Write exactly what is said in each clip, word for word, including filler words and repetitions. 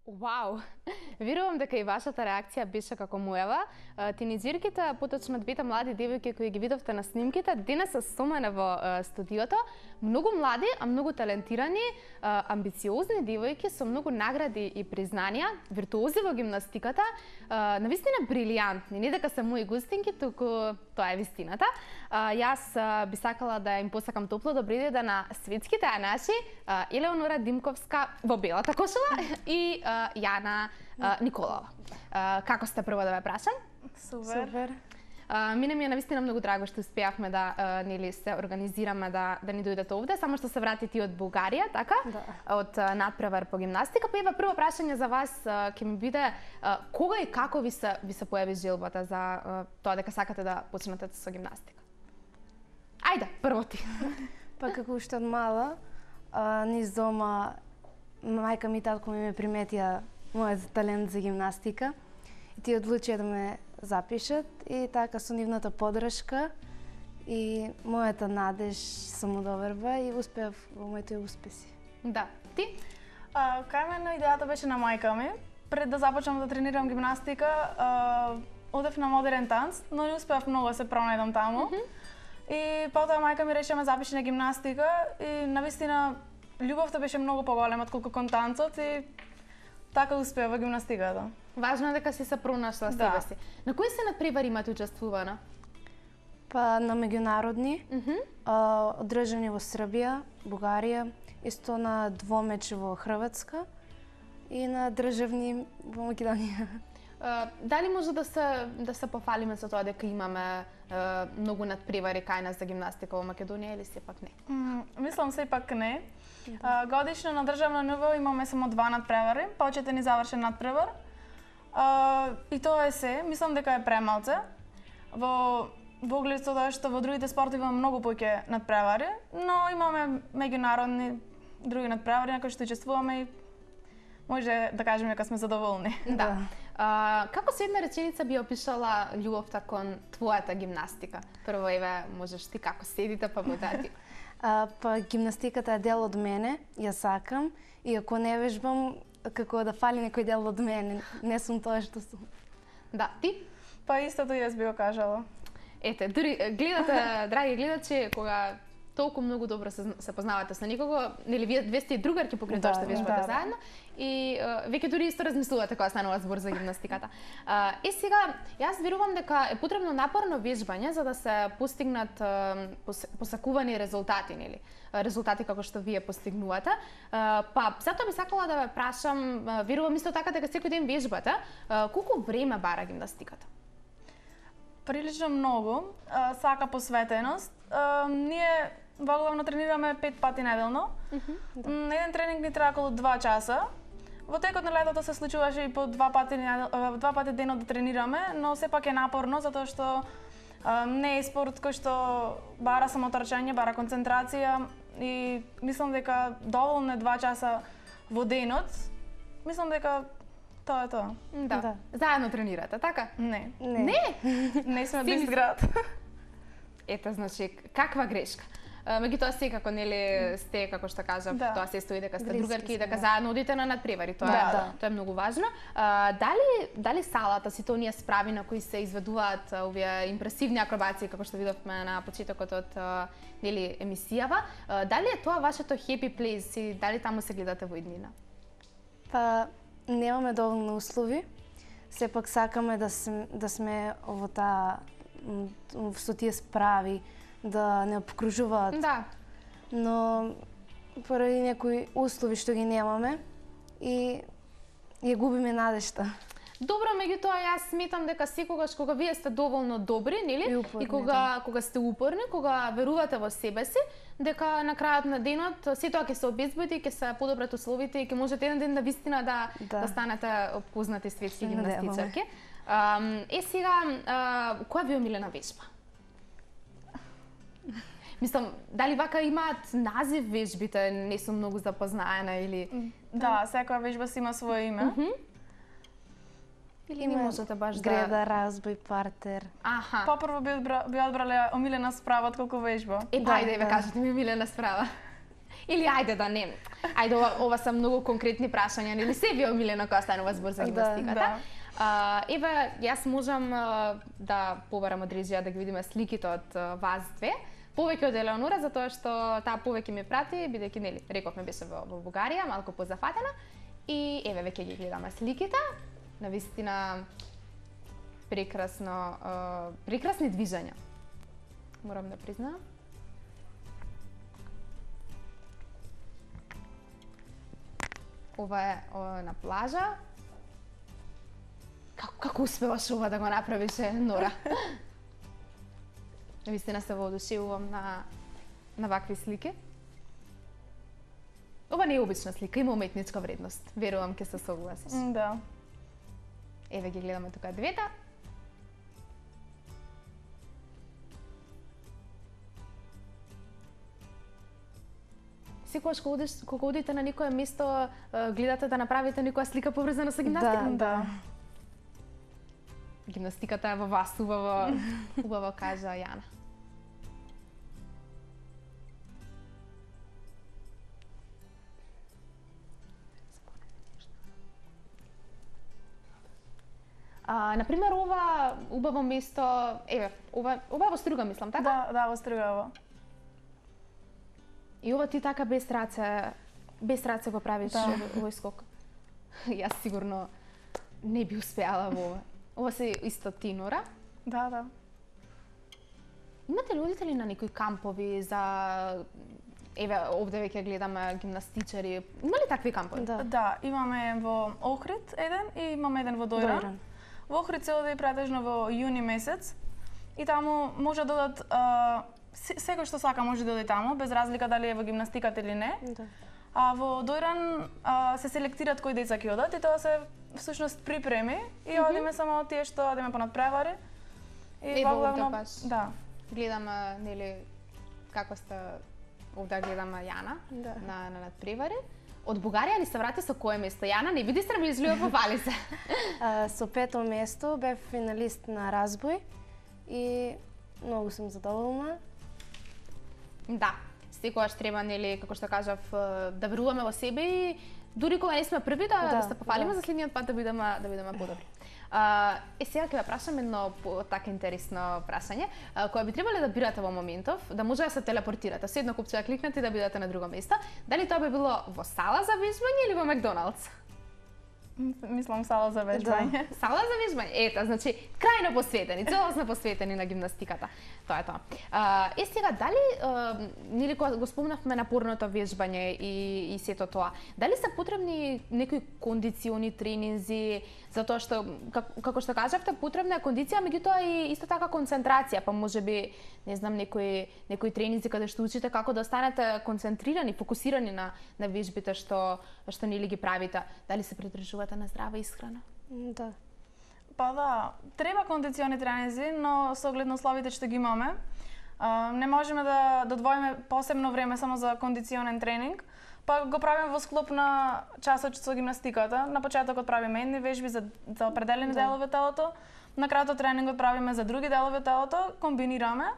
Вау! Верувам дека и вашата реакција беше како мојава. Тинеџерките, поточно двете млади девојки кои ги видовте на снимките, денес се со мене во студиото. Многу млади, а многу талентирани, амбициозни девојки со многу награди и признанија, виртуози во гимнастиката, навистина брилијантни. Не дека се мои густинки, туку тоа е вистината. Јас би сакала да им посакам топло добри ден на светските наши, Елеонора Димковска во белата кошула и Јана Николова. Како сте, прво да ве прашам? Супер. Супер. Мене ми е навистина многу драго што успеавме да нели се организираме да да ни дојдете овде, само што се вратите од Бугарија, така? Да. Од надпревар по гимнастика. Па ева прво прашање за вас ќе ми биде кога и како ви се ви се појави желбата за тоа дека сакате да почнете со гимнастика? Ајде, прво ти. Па како уште од мала, низ дома мајка ми и татко ми ме приметија мојот талент за гимнастика и тие одлучија да ме запишат и така со нивната поддршка и мојата надеж самодоверба и успеав во моите успеси. Да, ти? А, кај мене идејата беше на мајка ми. Пред да започнам да тренирам гимнастика, а, одев на модерен танц, но не успеав многу да се пронајдам таму. Mm -hmm. И потоа мајка ми рече ме запиши на гимнастика и навистина љубовта беше многу поголема отколку кон танцот и така успеа во гимнастиката. Важно е дека си се пронашла Да. себе си. На кои се надпревари имате учествувано? Па на меѓународни, Mm -hmm. а, одржани во Србија, Бугарија, исто на двомеч во Хрватска и на државни во Македонија. Uh, дали може да се да се пофалиме со тоа дека имаме uh, многу надпревари кај нас за гимнастика во Македонија или сепак не? Mm, мислам сепак не. А, годишно на државно ниво имаме само два надпревари, почетен и завршен надпревар. А, и тоа е се, мислам дека е премалце. Во во оглед со тоа што во другите спортови имаме многу поќе надпревари, но имаме меѓународни други надпревари на кои што учествуваме и може да кажеме дека сме задоволни. Да. А, како со една реченица би опишала љубовта кон твојата гимнастика? Прво, еве, можеш ти како седите, па потоа ти. А, па гимнастиката е дел од мене, ја сакам и ако не вежбам, како да фали некој дел од мене, не сум тоа што сум. Да, ти? Па истото јас би го кажала. Ете, дури гледате, драги гледачи, кога толку многу добро се, се познавате со некого, нели вие две сте другарки покрај Да, тоа што вежбате да. заедно и uh, веќе дури исто размислувате кога станува збор за гимнастиката. Uh, и сега, јас верувам дека е потребно напорно вежбање за да се постигнат uh, пос, посакувани резултати, нели? Резултати како што вие постигнувате. Uh, па, затоа би сакала да ве прашам, uh, верувам исто така дека секој ден вежбате, uh, колку време бара гимнастиката? Прилично многу, а, сака посветеност. А, ние во главно тренираме пет пати неделно. Mm -hmm, да. Еден тренинг ни трае околу два часа. Во текот на летото се случуваше и по два пати недел, два пати денот да тренираме, но сепак е напорно затоа што а, не е спорт кој што бара само трчање, бара концентрација и мислам дека доволно е два часа во денот. Мислам дека тоа е тоа. Да. Да. Заедно тренирате, така? Не. Не. Не? Не сме Си од ми- ист град. Ете, значи, каква грешка. Меѓутоа секако нели сте како што кажав, Да. тоа се стои дека сте Блиски другарки и сме, дека да. заедно одите на надпревари. Тоа Да, е да. тоа е многу важно. А, дали дали салата, сите оние справи на кои се изведуваат а, овие импресивни акробации како што видовме на почетокот од а, нели емисијава, а, дали е тоа вашето happy place и дали таму се гледате во иднина? Па немаме доволно услови. Сепак сакаме да сме, да сме во таа м, со тие справи да не обкружуваат. Да. Но поради некои услови што ги немаме и ја губиме надежта. Добро, меѓутоа јас сметам дека секогаш кога вие сте доволно добри, нели? И упорни, и кога кога сте упорни, кога верувате во себе си, дека на крајот на денот се тоа ќе се обезбеди, ќе се подобрат условите и ќе можете еден ден да вистина да Да. да станете познати светски Се надеваме. гимнастичарки. Ам, е сега, а, која ви е омилена вежба? Мислам, дали вака имаат назив вежбите, не сум многу запознаена или... Да, секоја вежба си има свое име. Мгм. Или не можете баш да... Греда, разбој, партер. Аха. Попрво би, одбра, би одбрале омилена справа отколку вежба. Е, Да, ајде, ве да. кажете ми милена справа. Или ајде да не. Ајде, ова, ова се многу конкретни прашања, нели се ви омилено кога станува збор за гимнастиката? Да. А, еве, јас можам а, да побарам од режија да ги видиме сликите од а, вас две. Повеќе од Елеонора, затоа што таа повеќе ми прати, бидејќи нели рековме беше во, во Бугарија, малку позафатена. И еве веќе ги гледаме сликите. Навистина прекрасно, а, прекрасни движења. Морам да признаам. Ова е о, на плажа. Како, како успеваш ова да го направише, Нора? Навистина се воодушевувам на, на вакви слики. Ова не е обична слика, има уметничка вредност. Верувам ќе се согласиш. М, Да. Еве ги гледаме тука двете. Секогаш кога одиш, кога одите на некое место, е, гледате да направите некоја слика поврзана со гимнастика? Да, Да. Гимнастиката е во вас, убаво, убаво кажа Јана. А, например, ова убаво место, еве, ова, ова е во Струга, мислам, така? Да, да, во Стругава. И ова ти така без раце, без раце го правиш Да. овој, овој скок. Јас сигурно не би успеала во ова. Ова се исто ти, Нора. Да, да. Имате ли одите на некои кампови за еве овде веќе гледаме гимнастичари. Има ли такви кампови? Да. Да, имаме во Охрид еден и имаме еден во Дојран. Дојран. Во Охрид се оди претежно во јуни месец и таму може да додат а, се- секој што сака може да оди таму, без разлика дали е во гимнастиката или не. Да. А во Дојран а, се селектираат кои деца ќе одат и тоа се всушност припреми и одиме само тие што одиме по надпревари. И Ево, во главно овде баш. да. Гледаме нели како сте овде гледаме Јана Да. на на надпревари. Од Бугарија ни се врати со кое место? Јана, не биди срамежлива, повали се. А, со пето место бев финалист на разбој и многу сум задоволна. Да, секогаш треба, нели, како што кажав, е, да веруваме во себе и дури кога не сме први да, да, Да, се пофалиме да. за следниот пат да бидеме да бидеме подобри. А, е сега ќе ве прашам едно по- така интересно прашање, а, кое би требале да бирате во моментов, да може да се телепортирате, со едно купче да кликнете и да бидете на друго место. Дали тоа би било во сала за вежбање или во Макдоналдс? М, Мислам сала за вежбање. Сала за вежбање. Ето, значи, крајно посветени, целосно посветени на гимнастиката. Тоа е тоа. А, е сега, дали, а, нели кога го спомнавме напорното вежбање и, и сето тоа, дали се потребни некои кондициони тренинзи, затоа што, како, како што кажавте, потребна е кондиција, меѓутоа и исто така концентрација, па можеби, не знам, некои, некои тренинзи каде што учите како да останете концентрирани, фокусирани на, на вежбите што, што нели ги правите. Дали се придржувате на здрава исхрана? М, Да. Па да, треба кондициони тренинзи, но со оглед на условите што ги имаме, а, не можеме да додвоиме посебно време само за кондиционен тренинг, па го правиме во склоп на часот со гимнастиката. На почетокот правиме едни вежби за, за определени Да. делови телото, на крајот тренингот правиме за други делови телото, комбинираме.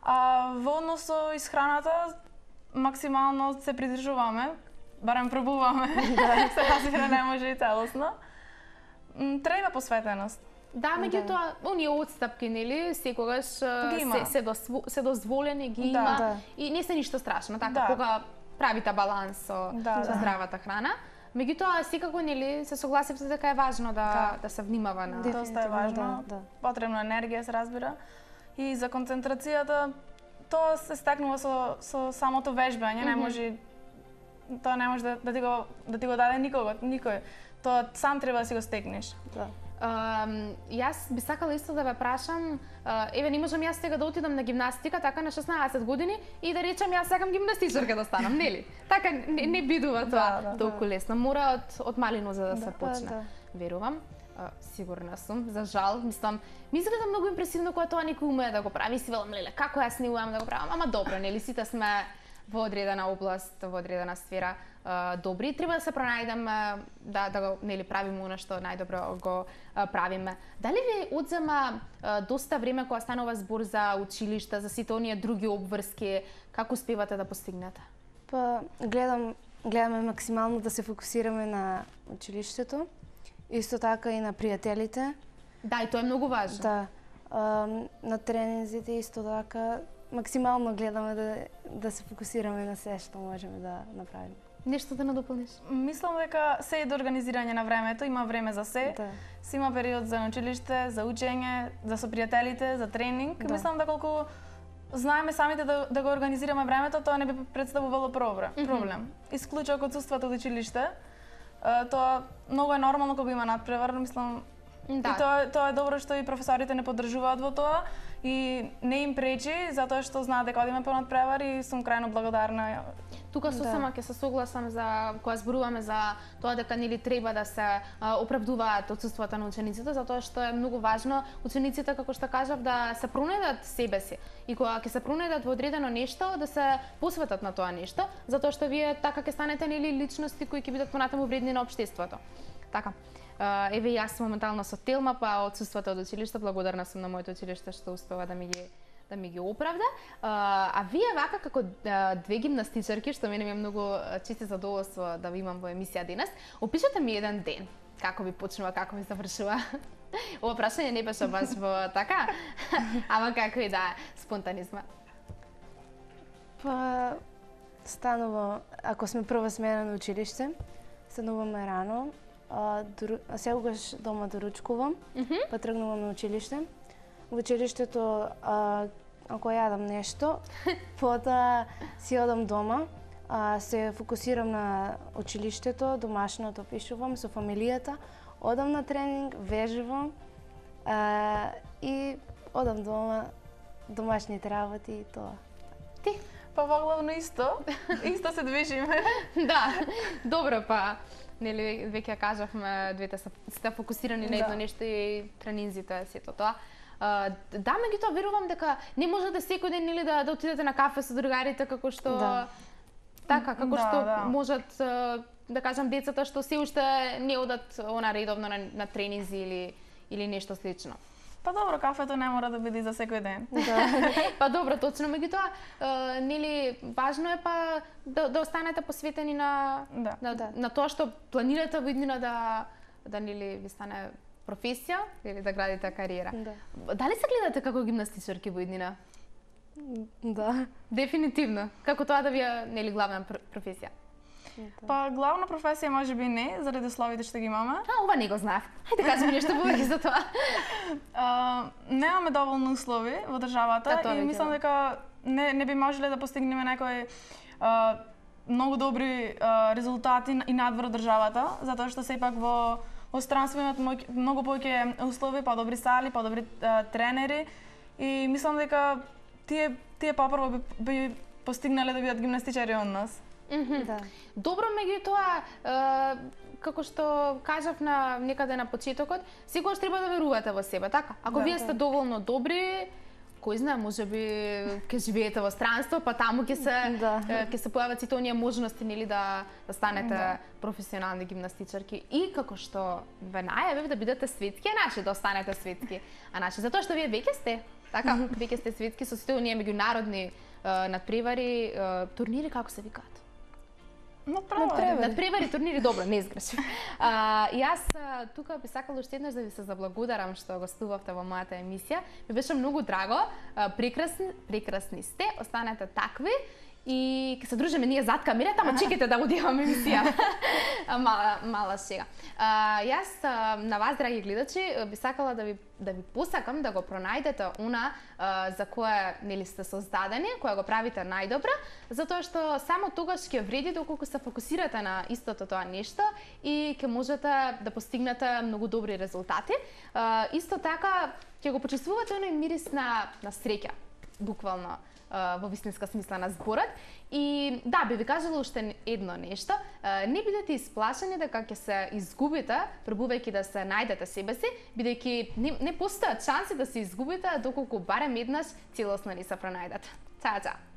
А во однос со исхраната максимално се придржуваме, барем пробуваме. Се разбира, не може и целосно. М, Треба посветеност. Да, меѓутоа, оние отстапки, нели, секогаш а, Ги има. се, се, досво, се дозволени, ги Да. има Да. и не се ништо страшно, така, Да. кога правите баланс со, Да, со да. здравата храна. Меѓутоа, секако, нели, се согласивте дека е важно да, Да. да се внимава на... Доста е Дефинитивно, важно. да, да. Потребно е енергија, се разбира. И за концентрацијата, тоа се стекнува со, со самото вежбање, не Мгм. може тоа не може да, да ти го да ти го даде никого, никој. Тоа сам треба да си го стекнеш. Да. Um, јас би сакала исто да ве прашам, uh, еве не можам јас сега да отидам на гимнастика така на шеснаесет години и да речам јас сакам гимнастичарка да станам, нели? Така не, не бидува тоа Да, да, толку лесно. Мора од од мали нозе да се Да, почне. да. Верувам. Uh, сигурна сум, за жал, мислам, ми изгледа многу импресивно кога тоа некој умее да го прави, си велам, леле, како јас не умеам да го правам, ама добро, нели, сите сме во одредена област, во одредена сфера uh, добри, треба да се пронајдеме uh, да да го нели правиме она што најдобро го uh, правиме. Дали ви одзема uh, доста време кога станува збор за училишта, за сите оние други обврски, како успевате да постигнете? Па гледам гледаме максимално да се фокусираме на училиштето. Исто така и на пријателите. Да, и тоа е многу важно. Да. А, на тренинзите исто така максимално гледаме да да се фокусираме на се што можеме да направиме. Нешто да надополниш? Мислам дека се е до организирање на времето, има време за се. Да. Се има период за на училиште, за учење, за со пријателите, за тренинг. Да. Мислам дека колку знаеме самите да, да го организираме времето, тоа не би представувало проблем. Mm -hmm. проблем. Исклучок одсуството од училиште. Тоа многу е нормално кога има надпревар, мислам. Да. И тоа тоа е добро што и професорите не поддржуваат во тоа и не им пречи затоа што знаат дека одиме по надпревар и сум крајно благодарна. Тука сосема ќе се согласам за кога зборуваме за тоа дека нели треба да се а, оправдуваат отсуството на учениците, затоа што е многу важно учениците, како што кажав, да се пронајдат себе си и кога ќе се пронајдат во одредено нешто да се посветат на тоа нешто, затоа што вие така ќе станете нели личности кои ќе бидат понатаму вредни на општеството. Така. Uh, еве јас моментално со Телма, па отсуството од училиште, благодарна сум на моето училиште што успева да ми ги да ми ги оправда. Uh, а вие вака како uh, две гимнастичарки, што мене ми е многу чисто задоволство да ви имам во емисија денес, опишете ми еден ден. Како ви почнува, како ви завршува? Ова прашање не беше баш во така, ама како и да, спонтанизма. Па станува, ако сме прва смена на училиште, стануваме рано. А, дору... а сегогаш дома доручкувам, mm -hmm. па тргнувам на училиште. Во училиштето, а, ако јадам нешто, потоа си одам дома, а, се фокусирам на училиштето, домашното пишувам со фамилијата, одам на тренинг, вежувам а, и одам дома, домашните работи и тоа. Ти? Па главно исто, исто се движиме. Да, добро па. Нели веќе кажавме, двете се сте фокусирани на едно да. нешто и тренинзите сето тоа. Uh, да, меѓутоа верувам дека не можете секој ден нели да да отидете на кафе со другарите како што да. така како да, што да. можат uh, да кажам децата што се уште не одат она редовно на, на тренинзи или или нешто слично. Па добро, кафето не мора да биде за секој ден. Да. Па добро, точно, меѓутоа, uh, нели важно е па да, да останете посветени на да. на, да. на тоа што планирате во иднина да да нели ви стане професија или да градите кариера. Да. Дали се гледате како гимнастичарки во иднина? Да. Дефинитивно. Како тоа да ви е нели главна професија? Да. Па главна професија можеби не, заради условите што ги имаме. А, ова не го знаев. Хајде кажи ми нешто повеќе за тоа. А, немаме доволно услови во државата да, и мислам дека не не би можеле да постигнеме некои а, многу добри а, резултати и надвор од државата, затоа што сепак во во странство имаат многу повеќе услови, подобри сали, подобри а, тренери и мислам дека тие тие попрво би, би постигнале да бидат гимнастичари од нас. Mm -hmm. Да. Добро, меѓутоа, е, како што кажав на некаде на почетокот, секогаш треба да верувате во себе, така? Ако да, вие сте да. доволно добри, кој знае, можеби ќе живеете во странство, па таму ќе се да. ќе се појават сите оние можности нели да да станете да. професионални гимнастичарки и како што ве најавив да бидете светски, а наши да останете светски, а наши затоа што вие веќе сте, така, веќе сте светски со сите оние меѓународни надпревари, турнири како се викаат? Надпревари. Надпревари, турнири, добро, не изгрешив. А, и јас тука би сакала уште еднаш да ви се заблагодарам што гостувавте во мојата емисија. Ми беше многу драго, прекрасни, прекрасни сте, останете такви и ќе се дружиме ние зад камерата, ама чекайте да одиваме емисија. мала, мала шега. А, јас на вас, драги гледачи, би сакала да ви да ви посакам да го пронајдете она а, за кое нели сте создадени, кое го правите најдобро, затоа што само тогаш ќе вреди доколку се фокусирате на истото тоа нешто и ќе можете да постигнете многу добри резултати. А, исто така ќе го почувствувате оној мирис на на среќа, буквално. во вистинска смисла на зборот. И да, би ви кажала уште едно нешто. Не бидете исплашени дека ќе се изгубите пробувајќи да се најдете себе си, бидејќи не, не постојат шанси да се изгубите доколку барем еднаш целосно не се пронајдете. Чао, чао!